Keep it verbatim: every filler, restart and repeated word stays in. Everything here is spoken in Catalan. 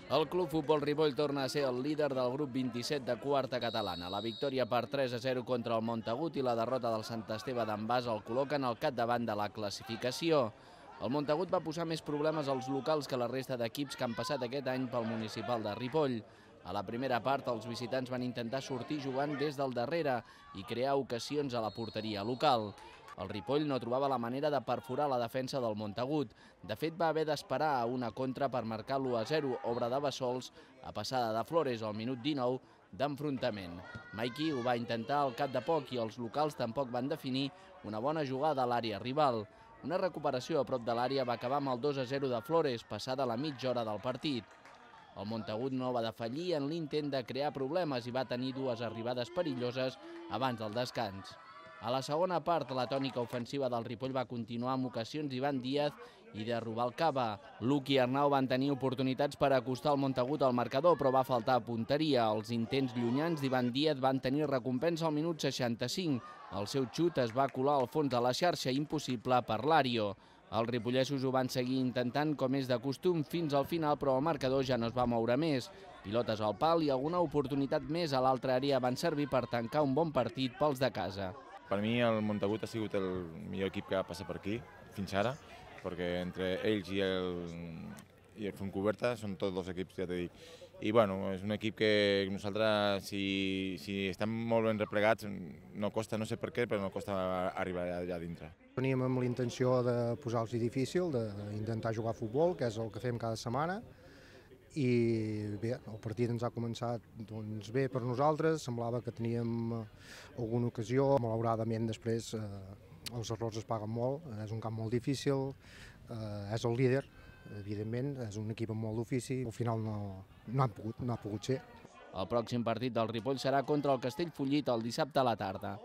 El Club Futbol Ripoll torna a ser el líder del grup vint-i-set de quarta catalana. La victòria per tres a zero contra el Montagut i la derrota del Sant Esteve d'en Bas el col·loquen al capdavant de la classificació. El Montagut va posar més problemes als locals que la resta d'equips que han passat aquest any pel municipal de Ripoll. A la primera part, els visitants van intentar sortir jugant des del darrere i crear ocasions a la porteria local. El Ripoll no trobava la manera de perforar la defensa del Montagut. De fet, va haver d'esperar a una contra per marcar l'u a zero, obra de Bassols, a passada de Flores al minut dinou d'enfrontament. Maiki ho va intentar al cap de poc i els locals tampoc van definir una bona jugada a l'àrea rival. Una recuperació a prop de l'àrea va acabar amb el dos a zero de Flores, passada la mitja hora del partit. El Montagut no va defallir en l'intent de crear problemes i va tenir dues arribades perilloses abans del descans. A la segona part, la tònica ofensiva del Ripoll va continuar amb ocasions d'Ivan Díaz i de Rubalcaba. Luc i Arnau van tenir oportunitats per acostar el Montagut al marcador, però va faltar punteria. Els intents llunyans d'Ivan Díaz van tenir recompensa al minut seixanta-cinc. El seu xut es va colar al fons de la xarxa, impossible per l'Àrio. Els ripollesos ho van seguir intentant com és de costum fins al final, però el marcador ja no es va moure més. Pilotes al pal i alguna oportunitat més a l'altra àrea van servir per tancar un bon partit pels de casa. Per mi el Montagut ha sigut el millor equip que ha passat per aquí fins ara, perquè entre ells i el, i el Fontcoberta són tots dos equips, ja t'he dit. I bueno, és un equip que nosaltres, si, si estem molt ben replegats, no costa, no sé per què, però no costa arribar allà dintre. Veníem amb la intenció de posar-los difícil, d'intentar jugar a futbol, que és el que fem cada setmana, i bé, el partit ens ha començat doncs, bé per nosaltres, semblava que teníem alguna ocasió, malauradament després eh, els errors es paguen molt, és un camp molt difícil, eh, és el líder, evidentment, és un equip amb molt d'ofici, al final no, no, han pogut, no ha pogut ser. El pròxim partit del Ripoll serà contra el Castellfollit el dissabte a la tarda.